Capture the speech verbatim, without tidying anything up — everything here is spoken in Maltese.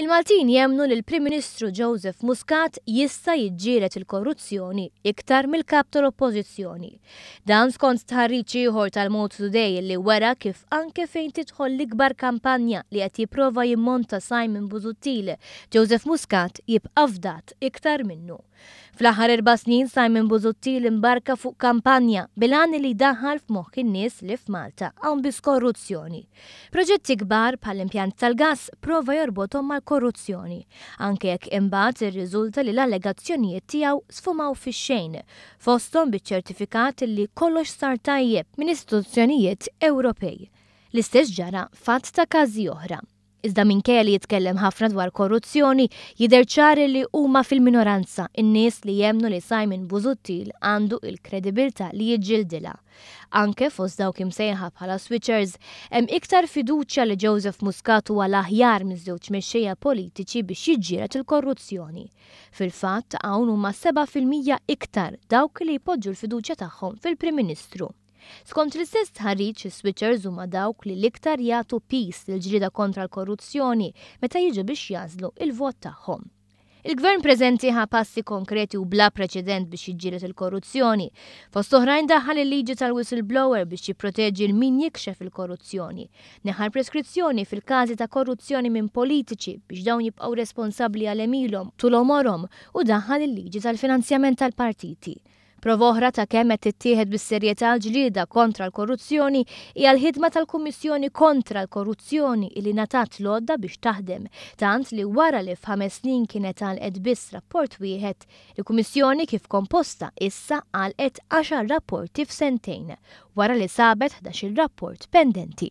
Il-Maltin jemmnu li l-Prim Ministru Joseph Muscat jista' jiġġieled il-korruzzjoni iktar mill-kap tal-Oppożizzjoni. Dan skont stħarriġ ieħor tal-Malta Today li wera kif anke fejn tidħol l-ikbar kampanja li qed jipprova jimmonta Simon Busuttil, Joseph Muscat jibqa' fdat iktar minnu. Fl-aħħar erba' snin Simon Busuttil imbarka fuq kampanja bil-għan li jdaħħal f'moħħ in-nies li f'Malta hawn biss korruzzjoni. Proġetti kbar bħall-impjant tal-gas prova jorbothom mal-korruzzjoni, anke jekk imbagħad irriżulta li l-allegazzjonijiet tiegħu sfumaw fix-xejn, fosthom biċ-ċertifikat li kollox sar tajjeb minn istituzzjonijiet Ewropej. L-istess ġara f'għadd ta' każi oħra. Iżda minkejja li jitkellem ħafna dwar korruzzjoni, jidher ċar li huma fil-minoranza in-nies li jemmnu li Simon Busuttil għandu il-kredibilità li jiġġildilha. Anke fost dawk imsejħa bħala switchers, hemm iktar fiduċja li Joseph Muscat huwa l-aħjar miż-żewġ mexxejja politiċi biex jiġġieled il-korruzzjoni. Fil-fatt hawn huma seba' fil-mija iktar dawk li jpoġġu l-fiduċja tagħhom fil-Prim Ministru. Skont l-istess stħarriġ, is-switchers huma dawk li l-iktar jagħtu piż lill-ġlieda kontra l-korruzzjoni meta jiġu biex jagħżlu il-vot tagħhom. Il-gvern preżenti ħa passi konkreti u bla preċedent biex jiġġieled il-korruzzjoni. Fost oħrajn daħħal il-liġi tal-whistleblower biex jipproteġi lil min jikxef il-korruzzjoni. Neħħa l-preskrizzjoni fil-każi ta' korruzzjoni minn politiċi biex dawn jibqgħu responsabbli għal għemilhom tul għomorhom u daħħal il-liġi tal-finanzjament tal-partiti. Prova oħra ta' kemm qed tittieħed bis-serjetà l-ġlieda kontra l-korruzzjoni hija l-ħidma tal-Kummissjoni kontra l-Korruzzjoni li ngħatat l-għodda biex taħdem, tant li wara li f'ħames snin kienet għalqet biss rapport wieħed, il-Kummissjoni kif komposta issa għalqet għaxar rapporti f'sentejn, wara li sabet ħdax-il rapport pendenti.